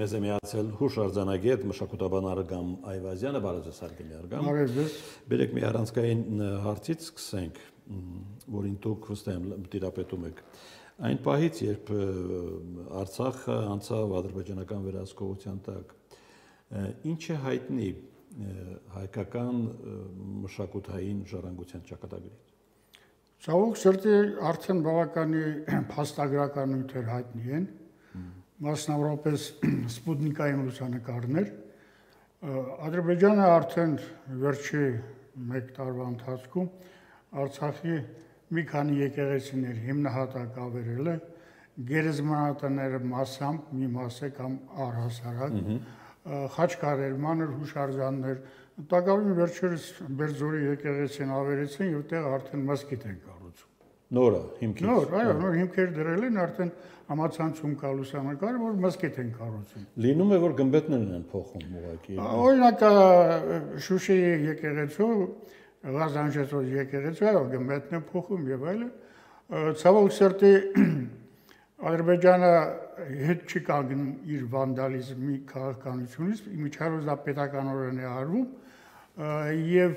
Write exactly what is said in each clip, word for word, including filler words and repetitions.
մեզ է միացել հուշարձանագետ մշակութաբան Արգամ Այվազյանը, բարև ձեզ հարգելի Արգամ։ Բարև ձեզ։ Բերեք մի առանցքային հարցից սկսենք, որին դուք վստահ եմ տիրապետում եք։ Այն պահից, երբ Արցախը անցավ ադրբեջանական վերահսկողության տակ, ինչ է հայտնի հայկական մշակութային ժառանգության ճակատագրից։ Ցավոք սրտի արդեն բավականի փաստագրական նյութեր հայտնի են, մասնավորապես սպուտնիկային լուսանկարներ։ Ադրբեջանը արդեն վերջի մեկ տարվա ընթացքում Արցախի մի քանի եկեղեցիներ հիմնահատակ ավերել է, գերեզմանատները մասամբ, մի մասը կամ առհասարակ, խաչքարեր, մանր հուշարձաններ, տակավին վերջերս Բերձորի եկեղեցին ավերեցին եւ տեղ արդեն մզկիթ են կառուցում։ Նորը հիմքից։ Նոր, այո, նոր հիմքեր դրել են, արդեն համացանցում կա լուսանկար, որ մզկիթ են կառուցում։ Լինում է, որ գմբեթներն են փոխում ուղղակի։ Օրինակ Շուշիի եկեղեցու, Ղազանջեցու եկեղեցու, այո, գմբեթն են փոխում եւ այլն։ Ցավոք սրտի Ադրբեջանը հետ չի կանգնում իր վանդալիզմի քաղաքականությունից, միջավայրը դա պետականորեն է արվում եւ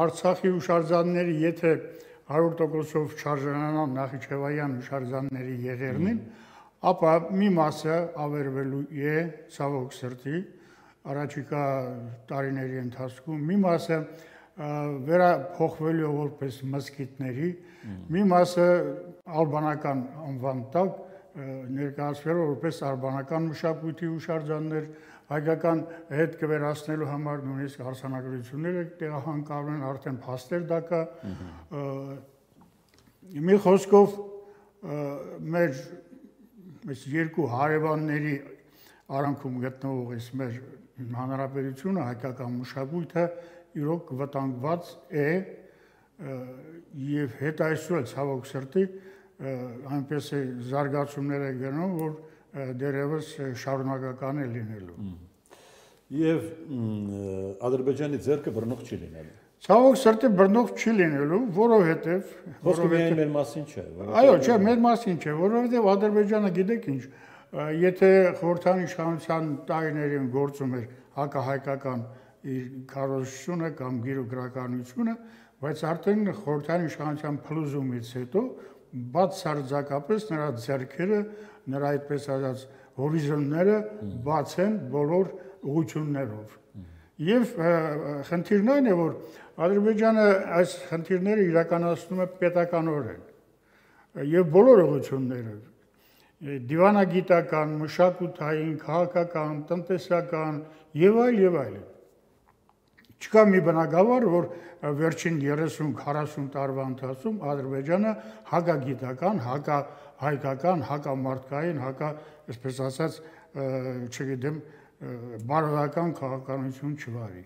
Արցախի հուշարձանները եթե հարյուր տոկոսով չարժանանան Նախիջևանյան հուշարձանների եղերնին, ապա մի մասը ավերվելու է ցավոք սրտի առաջիկա տարիների ընթացքում, մի մասը վերափոխվելու է որպես մզկիթների, մի մասը ալբանական անվան տակ ներկայացվելու որպես ալբանական մշակույթի հուշարձաններ, հայկական հետ կվերացնելու համար նույնիսկ արձանագրությունները տեղահանկալու են, արդեն փաստեր դա կա։ Մի խոսքով մեր այս երկու հարևանների արանքում գտնվող այս մեր հանրապետությունը, հայկական մշակույթը իրոք վտանգված է եւ հետ այսօր ցավոք սրտի այնպես է զարգացումներ է գնում, որ դերևս շարունակական է լինելու։ Եվ Ադրբեջանի ձեռքը բռնող չի լինելու։ Ցավոք սրտի բռնող չի լինելու, որովհետեւ Խոսքը միայն մեր մասին չէ։ Այո, չէ, մեր մասին չէ, որովհետեւ Ադրբեջանը գիտեք ինչ, եթե խորհրդային իշխանության տարիներին գործում էր հակահայկական իր քարոզությունը կամ գիրոգրականությունը, բայց արդեն խորհրդային իշխանության փլուզումից հետո բացարձակապես նրա ձեռքերը, նրա այդպես ասած հորիզոնները բաց են բոլոր ուղղություններով։ Եվ խնդիրն այն է, որ Ադրբեջանը այս խնդիրները իրականացնում է պետականորեն եւ բոլոր ուղղություններով դիվանագիտական, մշակութային, քաղաքական, տնտեսական եւ այլ եւ այլ։ Չկա մի բնագավառ, որ վերջին երեսուն քառասուն տարվա ընթացքում Ադրբեջանը հակագիտական, հակահայկական, հակամարտկային, հակա, այսպես ասած, չգիտեմ, բարոյական քաղաքականություն չվարի։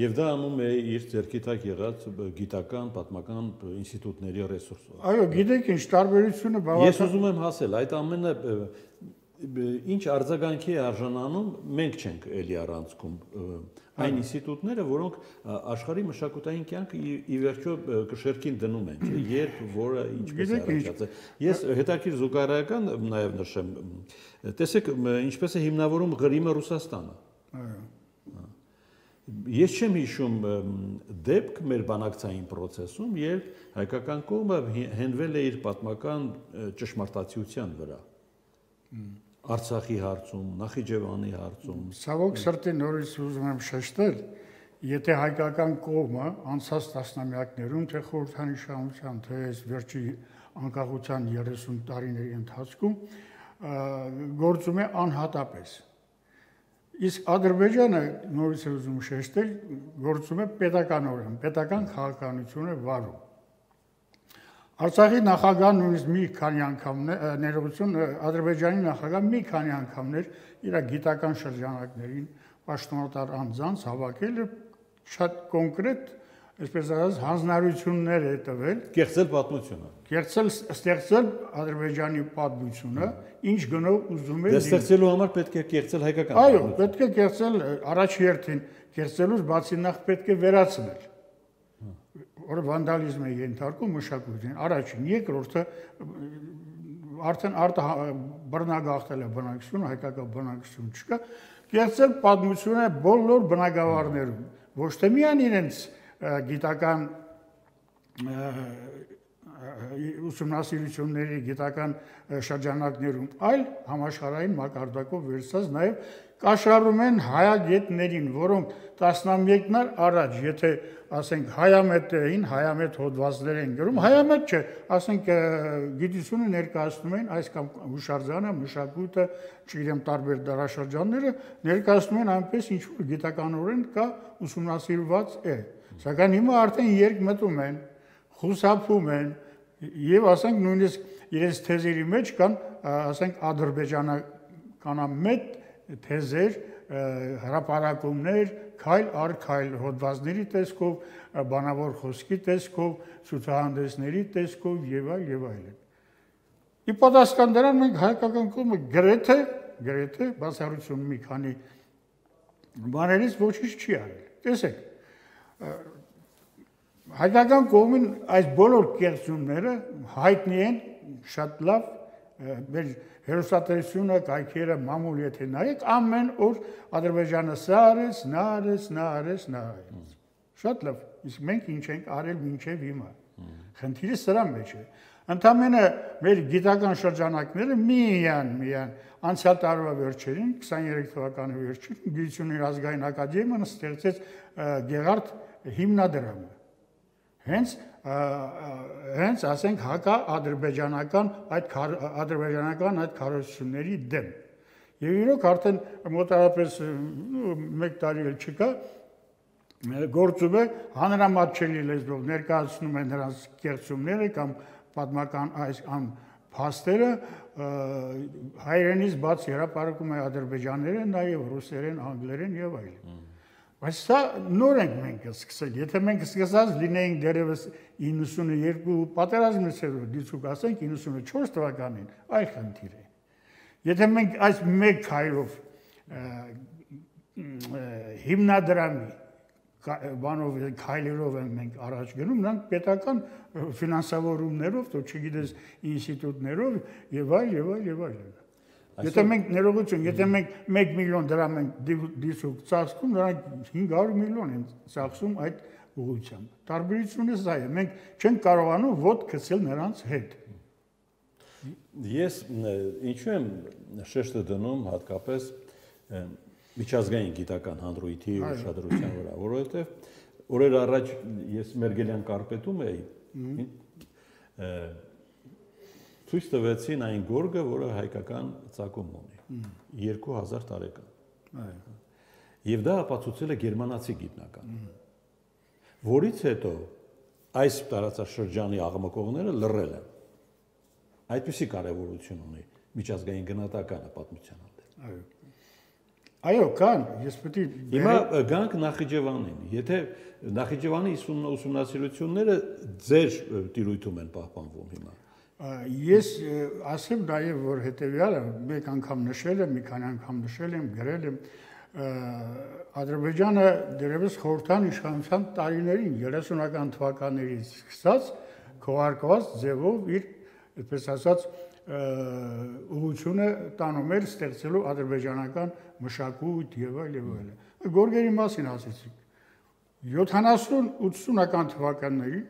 Եվ դա անում է իր ձեռքի տակ եղած գիտական, պատմական ինստիտուտների ռեսուրսով։ Այո, գիտեք ինչ, տարբերությունը բավական։ Ես ուզում եմ հասել, այդ ամենը ինչ արձագանքի է արժանանում, մենք չենք էլի առանցքում այն ինստիտուտները, որոնք աշխարհի մշակութային կյանքը ի վերջո կշերքին դնում են, չէ, երբ որը ինչպես է առաջացել։ Ես հետաքրքիր զուգարայական նաև նշեմ, տեսեք, ինչպես է հիմնավորում Ղրիմը Ռուսաստանը։ Այո։ Ես չեմ հիշում դեպք մեր բանակցային process-ում, երբ հայկական կողմը հենվել է իր պատմական ճշմարտացիության վրա։ Արցախի հարցում, Նախիջևանի հարցում։ Ցավոք սրտի նորից ուզում եմ շեշտել, եթե հայկական կողմը անցած տասնամյակներում, թե խորհրդային իշխանության, թե այս վերջի անկախության երեսուն տարիների ընթացքում գործում է անհատապես։ Իսկ Ադրբեջանը նորից ուզում շեշտել, գործում է պետականորեն, պետական քաղաքականություն է վարում։ Արցախի նախագահն նույնիսկ մի քանի անգամներ ներողություն Ադրբեջանի նախագահ մի քանի անգամներ իր գիտական շրջանակներին պաշտոնատար անձանց հավաքել է շատ կոնկրետ, այսպես ասած, հանձնարարություններ է տվել, կեղծել պատմությունը, կեղծել ստեղծել Ադրբեջանի պատմությունը, ինչ գնով ուզում է։ Դե ստեղծելու համար պետք է կեղծել հայկական Այո, պետք է կեղծել առաջի հերթին, կեղծելուց բացի նախ պետք է վերացնել։ Որ վանդալիզմ է ենթարկում մշակույթին, առաջին, երկրորդը արդեն արտը բռնագաղթել է բնակչությունը, հայկական բնակչություն չկա, կերտել պատմությունը բոլոր բնակավարներում, ոչ թե միայն իրենց գիտական ուսումնասիրությունների գիտական շրջանակներում, այլ համաշխարհային մակարդակով վերցած նաև կաշառում են հայագետներին, որոնք տասնամյակներ առաջ, եթե ասենք հայամետ էին, հայամետ հոդվածներ են գրում, հայամետ չէ, ասենք գիտությունը ներկայացնում են այս կամ հուշարձանը, մշակույթը, չգիտեմ տարբեր դարաշրջանները ներկայացնում են այնպես ինչ որ գիտականորեն կա ուսումնասիրված է, սակայն հիմա արդեն երկմտում են, խուսափում են եւ ասենք նույնիսկ իրենց թեզերի մեջ կան ասենք ադրբեջանականամետ թեզեր, հրապարակումներ, քայլ առ քայլ հոդվածների տեսքով, բանավոր խոսքի տեսքով, ցուցահանդեսների տեսքով եւ այլ եւ այլն։ Ի պատասխան դրան մենք հայկական կողմը գրեթե գրեթե բացառություն մի քանի բաներից ոչինչ չի արել։ Տեսեք, հայկական կողմին այս բոլոր կեղծումները հայտնի են շատ լավ մեր հերոսատեսությունը, կայքերը, մամուլ եթե նայեք, ամեն օր Ադրբեջանը սա արեց, նա արեց, նա արեց, նա արեց։ Շատ լավ, իսկ մենք ինչ ենք արել մինչև հիմա։ Խնդիրը սրա մեջ է։ Ընդամենը մեր գիտական շրջանակները միայն միայն անցյալ տարվա վերջերին, քսաներեք թվականի վերջին, Գիտությունների ազգային ակադեմիան ստեղծեց Գեղարդ հիմնադրամը։ Հենց հենց ասենք հակա ադրբեջանական այդ ադրբեջանական այդ քարոզությունների դեմ։ Եվ իրոք արդեն մոտավորապես մեկ տարի էլ չկա գործում է հանրամատչելի լեզվով ներկայացնում են նրանց կեղծումները կամ պատմական այս ամ փաստերը հայերենից բաց հրապարակում է ադրբեջաներեն, նաև ռուսերեն, անգլերեն եւ այլն։ Բայց սա նոր ենք մենք սկսել, եթե մենք սկսած լինեինք դերևս իննսունուերկու պատերազմից հետո դիցուկ ասենք իննսունուչորս թվականին, այլ խնդիր է։ Եթե մենք այս մեկ քայլով հիմնադրամի բանով քայլերով են մենք առաջ գնում, նրանք պետական ֆինանսավորումներով, то չգիտես ինստիտուտներով եւ այլ եւ այլ եւ այլն։ Եթե մենք ներողություն, եթե մենք մեկ միլիոն դրամ ենք դիսուկ ծախսում, նրանք հինգ հարյուր միլիոն են ծախսում այդ ուղղությամբ։ Տարբերությունը սա է, մենք չենք կարողանում ոտ գցել նրանց հետ։ Ես ինչու եմ շեշտը դնում հատկապես միջազգային գիտական հանրույթի ուշադրության վրա, որովհետև օրեր առաջ ես Մերգելյան կարպետում էի, ցույց տվեցին այն գորգը, որը հայկական ծագում ունի, երկու հազար տարեկան։ Եվ դա ապացուցել է գերմանացի գիտնական, որից հետո այս տարածաշրջանի աղմկողները լռել են։ Այդպիսի կարևորություն ունի միջազգային գնահատականը պատմության հանդեպ։ Այո, կան, ես պետք է Հիմա գանք Նախիջևանին, եթե Նախիջևանի ուսումնասիրությունները ձեր տիրույթում են պահպանվում հիմա։ Ես ասեմ նաև, որ հետևյալը մեկ անգամ նշել եմ, մի քանի անգամ նշել եմ, գրել եմ, Ադրբեջանը դերևս խորհրդային իշխանության տարիներին երեսունական թվականներից սկսած քողարկված ձևով իր, այդպես ասած, ուղղությունը տանում էր ստեղծելու ադրբեջանական մշակույթ եւ այլ եւ այլ։ Գորգերի մասին ասեցիք։ յոթանասուն ութսունական թվականներին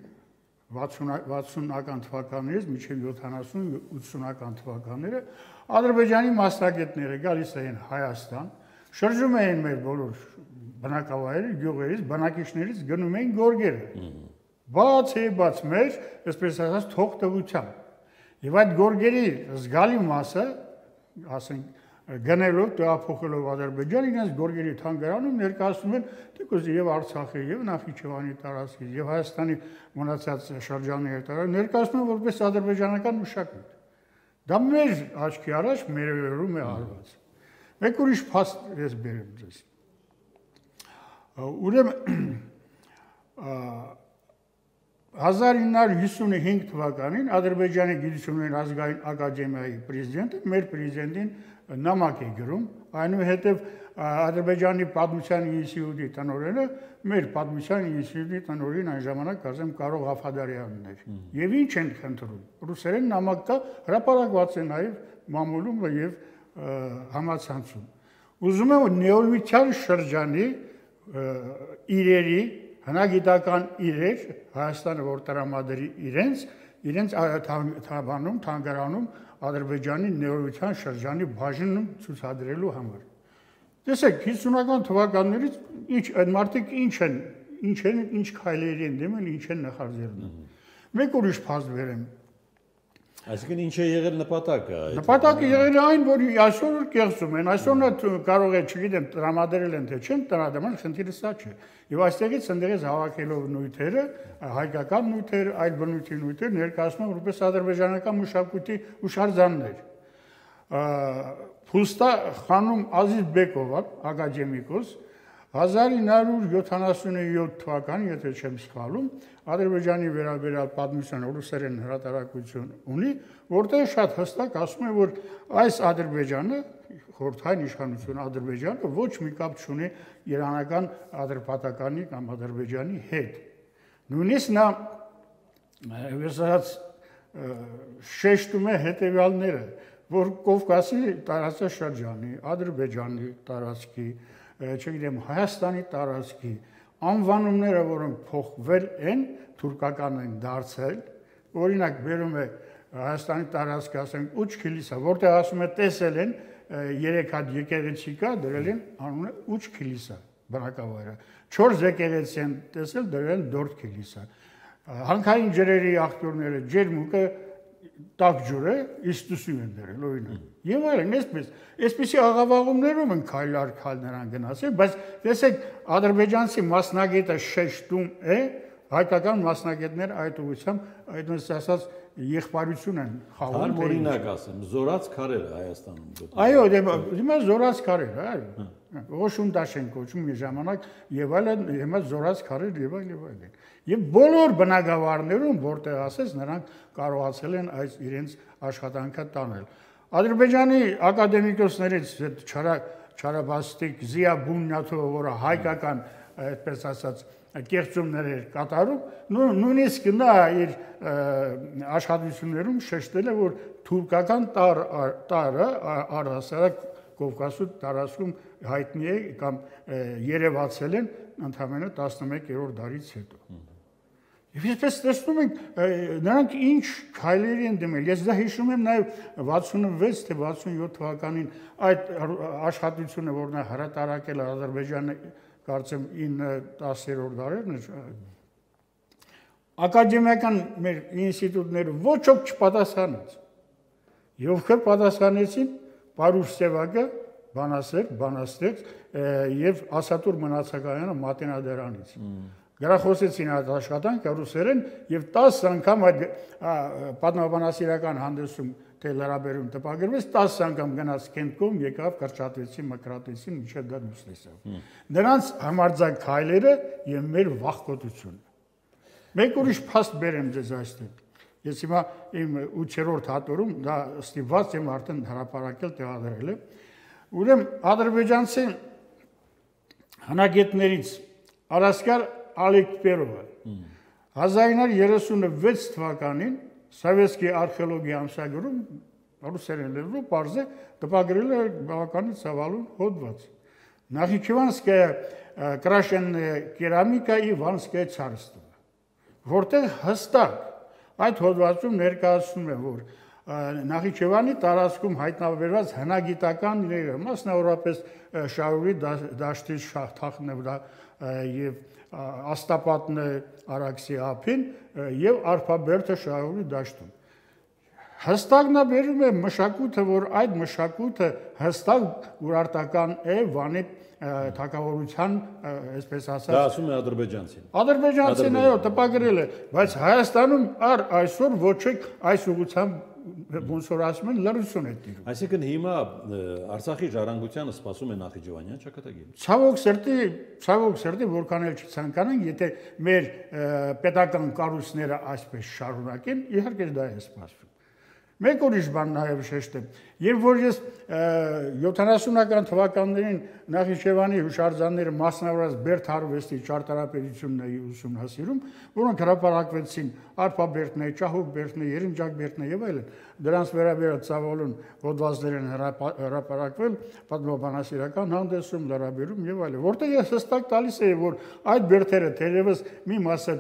վաթսունական թվականներից մինչև յոթանասուն ութսունական թվականները Ադրբեջանի մասնագետները գալիս էին Հայաստան, շրջում էին մեր բոլոր բնակավայրերը, գյուղերից, բնակիչներից գնում էին գորգերը։ Բաց է բաց մեր, այսպես ասած, թողտվությամբ։ Եվ այդ գորգերի զգալի մասը, ասենք, գնելով, տեղափոխելով Ադրբեջան, իրենց գորգերի թանգարանում ներկայացնում են թեկուզ եւ Արցախի, եւ Նախիջևանի տարածքի, եւ Հայաստանի մնացած շրջանների տարածք, ներկայացնում են որպես ադրբեջանական մշակույթ։ Դա մեր աչքի առաջ մերերում է արված։ Մեկ ուրիշ փաստ ես բերեմ ձեզ։ Ուրեմն հազար ինը հարյուր հիսունհինգ թվականին Ադրբեջանի Գիտությունների ազգային ակադեմիայի պրեզիդենտը մեր պրեզիդենտին նամակ է գրում, այնուհետև Ադրբեջանի պատմության ինստիտուտի տնօրենը մեր պատմության ինստիտուտի տնօրեն այն ժամանակ ասեմ Կարո Ղաֆադարյանն էր։ Եվ ինչ են խնդրում։ Ռուսերեն նամակ կա, հրապարակված է նաև մամուլում եւ համացանցում։ Ուզում եմ նեոլիթյան շրջանի իրերի, հնագիտական իրեր Հայաստանը որ տրամադրի իրենց, իրենց թավանում, թանգարանում Ադրբեջանի նեոլիթյան շրջանի բաժնում ցուցադրելու համար։ Տեսեք, հիսունական թվականներից ինչ այդ մարդիկ ինչ են, ինչ են, ինչ քայլերի են դեմել, ինչ են նախաձեռնում։ Մեկ ուրիշ փաստ վերեմ։ Այսինքն ինչ է եղել նպատակը։ Նպատակը եղել է այն, որ այսօր կեղծում են, այսօր կարող է, չգիտեմ, տրամադրել են թե չեն տրամադրել, խնդիրը սա չէ։ Եվ այստեղից ընդեղից հավաքելով նյութերը, հայկական նյութեր, այլ բնույթի նյութեր ներկայացնում որպես ադրբեջանական մշակույթի հուշարձաններ։ Փուստա խանում Ազիզ Բեկովը, ակադեմիկոս, հազար ինը հարյուր յոթանասունյոթ թվականին, եթե չեմ սխալում, Ադրբեջանի վերաբերյալ պատմության ռուսերեն հրատարակություն ունի, որտեղ շատ հստակ ասում է, որ այս Ադրբեջանը, խորհրդային իշխանություն Ադրբեջանը ոչ մի կապ չունի իրանական ադրբատականի կամ Ադրբեջանի հետ։ Նույնիսկ նա վերսած շեշտում է հետևյալները, որ Կովկասի տարածաշրջանի, Ադրբեջանի տարածքի, չգիտեմ, Հայաստանի տարածքի անվանումները, որոնք փոխվել են, թուրքական են դարձել, օրինակ բերում է Հայաստանի տարածքը, ասենք, Ուչ Քիլիսա, որտեղ ասում է տեսել են երեք հատ եկեղեցի կա, դրել են անունը Ուչ Քիլիսա, բնակավայրը, չորս եկեղեցի են տեսել, դրել են Դորդ Քիլիսա։ Հանքային ջրերի աղբյուրները, ջերմուկը տաք ջուրը իստուսու են դրել, օրինակ։ Եվ այլն, այսպես, այսպիսի աղավաղումներում են քայլ առ քայլ նրան գնացել, բայց տեսեք, ադրբեջանցի մասնագետը շեշտում է, հայկական մասնագետներ այդ ուղղությամբ, այդպես ասած, եղբայրություն են խաղում։ Հար օրինակ ասեմ, զորած քարեր Հայաստանում։ Այո, հիմա զորած քարեր, այո։ Ոշունդաշ են կոչում մի ժամանակ եւ այլն, հիմա զորած քարեր եւ այլ եւ այլն։ Եվ բոլոր բնակավարներում, որտեղ ասես, նրանք կարողացել են այս իրենց աշխատանքը տանել։ Ադրբեջանի ակադեմիկոսներից Չարաբաստիկ Զիա Բունյաթովը, որը հայկական, այդպես ասած, կեղծումներ էր կատարում, նույնիսկ նա իր աշխատություններում շեշտել է, որ թուրքական տարը առհասարակ Կովկասու տարածքում հայտնի է կամ երևացել են ընդամենը տասնմեկերորդ դարից հետո։ Եվ այսպես տեսնում ենք, նրանք ինչ քայլերի են դիմել։ Ես դա հիշում եմ նաև վաթսունվեց թե վաթսունյոթ թվականին այդ աշխատությունը, որ նա հրատարակել է Ադրբեջանը, կարծեմ ինը տասերորդ դարերն է, ակադեմիական մեր ինստիտուտները ոչ ոք չպատասխանեց։ Եվ ովքեր պատասխանեցին, Պարուշ Սևակը, բանասեր, բանաստեղծ եւ Ասատուր Մնացականյանը Մատենադարանից։ Գրախոսեցին այդ աշխատանքը ռուսերեն եւ տասը անգամ այդ պատմաբանասիրական հանդեսում թե լրաբերում տպագրվեց, տասը անգամ գնաց Կենտկոմ, եկավ, կրճատվեցին, մկրատեցին, մինչև դա դուրս լսավ։ Նրանց համարձակ քայլերը եւ մեր վախկոտությունը։ Մեկ ուրիշ փաստ բերեմ ձեզ այստեղ։ Ես հիմա իմ ութերորդ հատորում դա ստիպված եմ արդեն հրապարակել տեղադրել է։ Ուրեմն ադրբեջանցի հնագետներից Արասկար Ալեքբերովը հազար ինը հարյուր երեսունվեց թվականին Սովետский արխեոլոգիա ամսագրում ռուսերեն լեզվով բարձ է տպագրել է բավականին ցավալուն հոդված։ Նախիջևանская крашенная керамика и Ванское царство, որտեղ հստակ այդ հոդվածում ներկայացնում է, որ Նախիջևանի տարածքում հայտնաբերված հնագիտական իրերը, մասնավորապես Շահուրի դաշտի Թախնը եւ Աստապատն Արաքսի ափին եւ Արփաբերդը Շահուրի դաշտում։ Հստակ նա բերում է մշակույթը, որ այդ մշակույթը հստակ ուրարտական է Վանի թագավորության, այսպես ասած։ Դա ասում է ադրբեջանցին։ Ադրբեջանցին այո, տպագրել է, բայց Հայաստանում առ այսօր ոչ ոք այս ուղղությամբ ոնց որ ասում են լրություն է տիրում։ Այսինքն հիմա Արցախի ժառանգությանը սպասում է Նախիջևանյան ճակատագիր։ Ցավոք սրտի, ցավոք սրտի, որքան էլ չցանկանանք, եթե մեր պետական կառույցները այսպես շարունակեն, իհարկե դա է սպասվում։ Մեկ ուրիշ բան նաև շեշտեմ։ Երբ որ ես յոթանասունական թվականներին Նախիջևանի հուշարձանները մասնավորած Բերդ արվեստի ճարտարապետությունն էի ուսումնասիրում, որոնք հրապարակվեցին Արփաբերդն է, Ճահուկբերդն է, Երնջակբերդն է եւ այլն, դրանց վերաբերյալ ծավալուն հոդվածներ են հրապարակվել պատմաբանասիրական հանդեսում, լրաբերում եւ այլն, որտեղ ես հստակ տալիս էի, որ այդ բերդերը թերևս մի մասը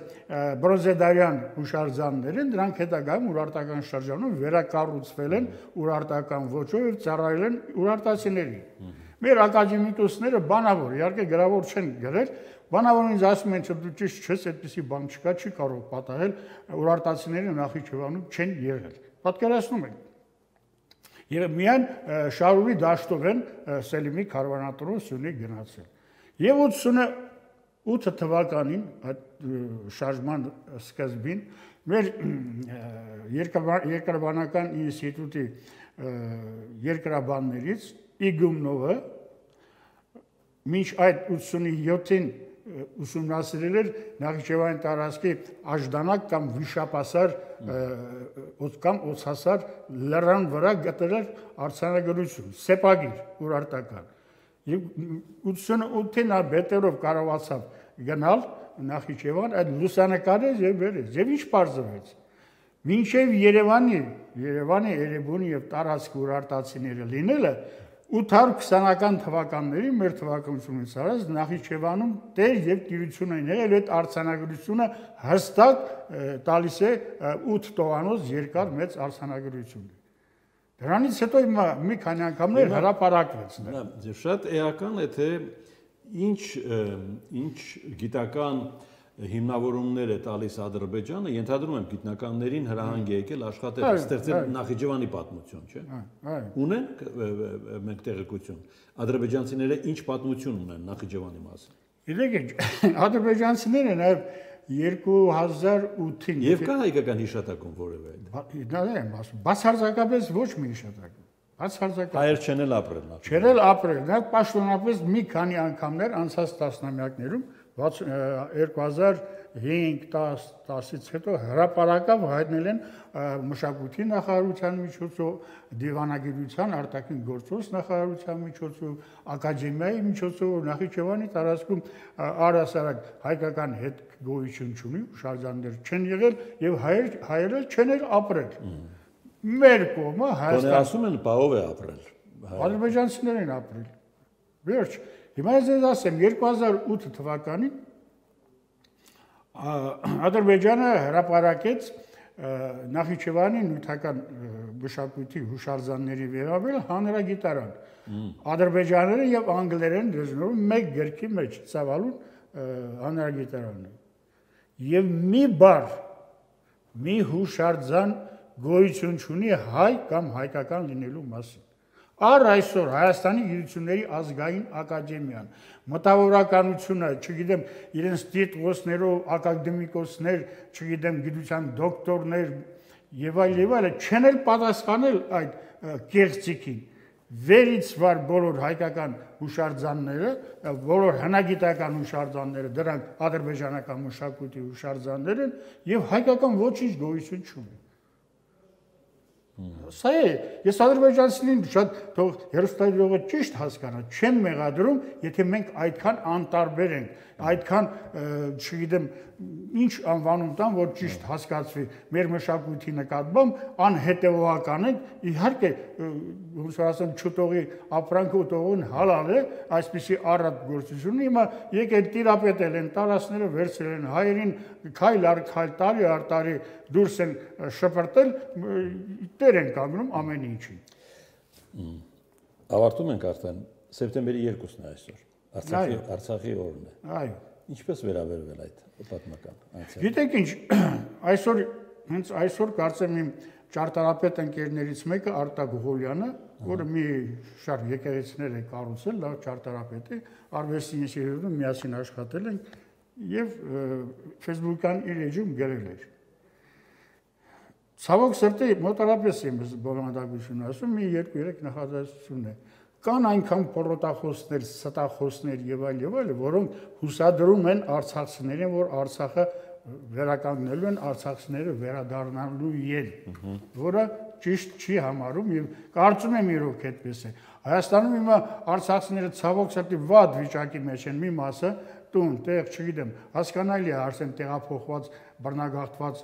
բրոնզեդարյան հուշարձաններ են, դրանք հետագայում ուրարտական շրջանում վերակառուցվել են ուրարտական ոճով եւ ծառայել են ուրարտացիներին։ Մեր ակադեմիկոսները բանավոր, իհարկե գրավոր չեն գրել, բանավորն ինձ ասում են, դու ճիշտ չես, այդպիսի բան չկա, չի կարող պատահել, ուրարտացիները Նախիջևանում չեն եղել։ Պատկերացնում եք։ Եվ միայն Շարուրի դաշտով են Սելիմի քարվանատրոն Սյունեի գնացել։ Եվ ութ թվականին այդ շարժման սկզբին մեր երկրաբանական ինստիտուտի երկրաբաններից Իգումնովը մինչ այդ ութսունյոթին ուսումնասիրել էր Նախիջևանի տարածքի աժդանակ կամ վիշապասար կամ օծհասար լեռան վրա գտել էր արձանագրություն, սեպագիր ուրարտական։ Եվ ութսունութին բետերով կարողացավ գնալ Նախիջևան, այդ լուսանկարեց եւ վերեց։ Եվ ինչ պարզվեց։ Մինչև Երևանի, Երևանի, Էրեբունի եւ տարածք ուրարտացիները լինելը ութ հարյուր քսանական թվականների մեր թվականությունից արած Նախիջևանում տեր եւ տիրություն են եղել, այդ արձանագրությունը հստակ տալիս է ութ տողանոց երկար մեծ արձանագրություն։ Դրանից հետո մի քանի անգամներ հրապարակվեց։ Շատ էական է, թե ինչ ինչ գիտական հիմնավորումներ է տալիս Ադրբեջանը, ենթադրում եմ գիտնականներին հրահանգ է եկել աշխատել, ստեղծել Նախիջևանի պատմություն, չէ՞։ Ունենք մենք տեղեկություն։ Ադրբեջանցիները ինչ պատմություն ունեն Նախիջևանի մասին։ Գիտեք, ադրբեջանցիները նաև երկու հազար ութին Եվ կա հայկական հիշատակում որևէ։ Դա եմ ասում, բացարձակապես ոչ մի հիշատակ։ Բացարձակապես։ Հայեր չեն էլ ապրել։ Չեն էլ ապրել, նա պաշտոնապես մի քանի անգամներ անցած տասնամյակներում երկու հազար հինգ տասից հետո հրապարակավ հայտնել են մշակույթի նախարարության միջոցով, դիվանագիտության արտաքին գործոց նախարարության միջոցով, ակադեմիայի միջոցով Նախիջևանի տարածքում առհասարակ հայկական հետ գոյություն չունի, հուշարձաններ չեն եղել եւ հայեր հայերը չեն էլ ապրել։ Մեր կողմը Հայաստանը ասում են բաղով է ապրել։ Ադրբեջանցիներ են ապրել։ Վերջ, հիմա ես ասեմ երկու հազար ութ թվականին Ադրբեջանը հրապարակեց Նախիջևանի նյութական մշակույթի հուշարձանների վերաբերյալ հանրագիտարան։ Ադրբեջաները եւ անգլերեն լեզուներով մեկ գրքի մեջ ծավալուն հանրագիտարանը։ Եվ մի բառ, մի հուշարձան գոյություն ունի հայ կամ հայկական լինելու մասին։ Առ այսօր Հայաստանի գիտությունների ազգային ակադեմիան մտավորականությունը, չգիտեմ, իրենց տիտղոսներով ակադեմիկոսներ, չգիտեմ, գիտության դոկտորներ եւ այլ եւ այլ չեն էլ պատասխանել այդ կեղծիքին։ Վերից վար բոլոր հայկական հուշարձանները, բոլոր հնագիտական հուշարձանները, դրանք ադրբեջանական մշակույթի հուշարձաններ են եւ հայկական ոչինչ գոյություն չունի։ Սա է, ես ադրբեջանցիներին շատ թող հերոստատիողը ճիշտ հասկանա, չեմ մեղադրում, եթե մենք այդքան անտարբեր ենք, այդքան, չգիտեմ, ինչ անվանում տան, որ ճիշտ հասկացվի մեր մշակույթի նկատմամբ, անհետևողական ենք, իհարկե, ոնց որ ասեմ, չուտողի ապրանքը ուտողին հալալ է, այսպիսի առատ գործությունը, հիմա եկել տիրապետել են, տարածները վերցրել են, հայերին քայլ առ քայլ, տարի առ տարի դուրս են շպրտել, տեր են կանգնում ամեն ինչին։ Ավարտում ենք արդեն, սեպտեմբերի երկուսն է այսօր, Արցախի օրն է։ Այո։ Ինչպես վերաբերվել այդ պատմական անցյալը։ Գիտեք ինչ, այսօր հենց այսօր կարծեմ իմ ճարտարապետ ընկերներից մեկը Արտակ Ղուլյանը, որը մի շարք եկեղեցիներ է կառուցել, լավ ճարտարապետ է, արվեստի ինստիտուտում միասին աշխատել են եւ Facebook-ան իր էջում գրել էր։ Ցավոք սրտի մոտարապես եմ բովանդակություն ասում, մի երկու-երեք նախադասություն է։ Կան այնքան պորոտախոսներ, ստախոսներ եւ այլ եւ այլ, որոնք հուսադրում են արցախցիներին, որ Արցախը վերականգնելու են, արցախցիները վերադառնալու են, որը ճիշտ չի համարում եւ կարծում եմ իրոք այդպես է։ Հայաստանում հիմա արցախցիները ցավոք սրտի վատ վիճակի մեջ են, մի մասը տուն, տեղ, չգիտեմ, հասկանալի է արդեն տեղափոխված, բռնագաղթված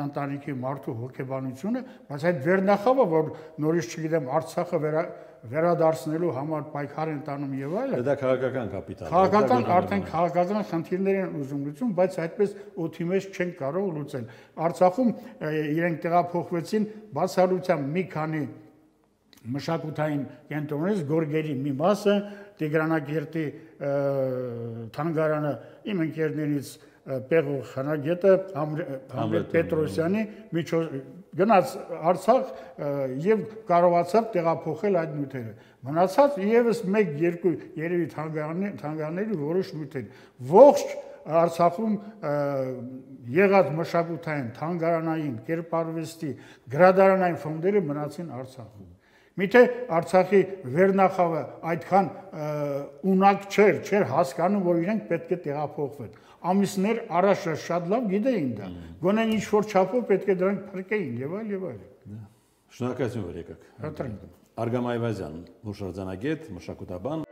ընտանիքի մարդու հոգեբանությունը, բայց այդ վերնախավը, որ նորից չգիտեմ, Արցախը վերադարձնելու համար պայքար են տանում եւ այլն։ Դա քաղաքական կապիտալ է։ Քաղաքական արդեն քաղաքական խնդիրներ են ուզում լուծում, բայց այդպես օդի մեջ չեն կարող լուծել։ Արցախում իրենք տեղափոխվեցին բացառությամբ մի քանի մշակութային կենտրոններից, Գորգերի մի մասը, Տիգրանակերտի թանգարանը, իմ ընկերներից Պեղող Խանագետը, Համլետ Պետրոսյանի միջոց գնաց Արցախ եւ կարողացավ տեղափոխել այդ նյութերը։ Մնացած եւս մեկ երկու երևի թանգարանների որոշ նյութեր։ Ողջ Արցախում եղած մշակութային, թանգարանային, կերպարվեստի, գրադարանային ֆոնդերը մնացին Արցախում։ Միթե Արցախի վերնախավը այդքան ունակ չէր, չէր հասկանում, որ իրենք պետք է տեղափոխվեն։ Ամիսներ առաջ շատ լավ գիտեին դա։ Գոնե ինչ որ չափով պետք է դրանք փրկեին եւ այլ եւ այլ։ Շնորհակալություն, որ եկաք։ Հատրենք։ Արգամ Այվազյան, հուշարձանագետ, մշակութաբան